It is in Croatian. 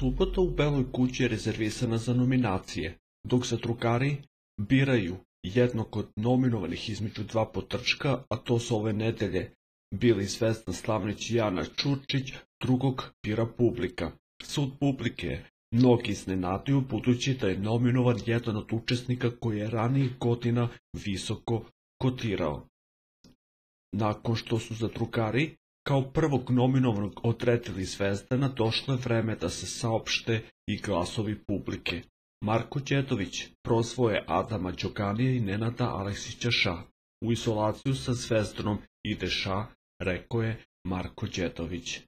Subota u Beloj kući je rezervisana za nominacije, dok se drugari biraju jednog od nominovanih između dva potrčka, a to su ove nedelje bili Zvezdan Slavnić i Jana Ćurčić, drugog bira publika. Sud publike je mnogi iznenadio budući da je nominovan jedan od učesnika koji je ranijih godina visoko kotirao. Nakon što su zadrugari kao prvog nominovanog odredili Zvezdana, došlo je vreme da se saopšte i glasovi publike. Marko Đedović prozvao je Adama Đoganija i Nenada Aleksića Ša. U izolaciju sa Zvezdanom ide Ša, rekao je Marko Đedović.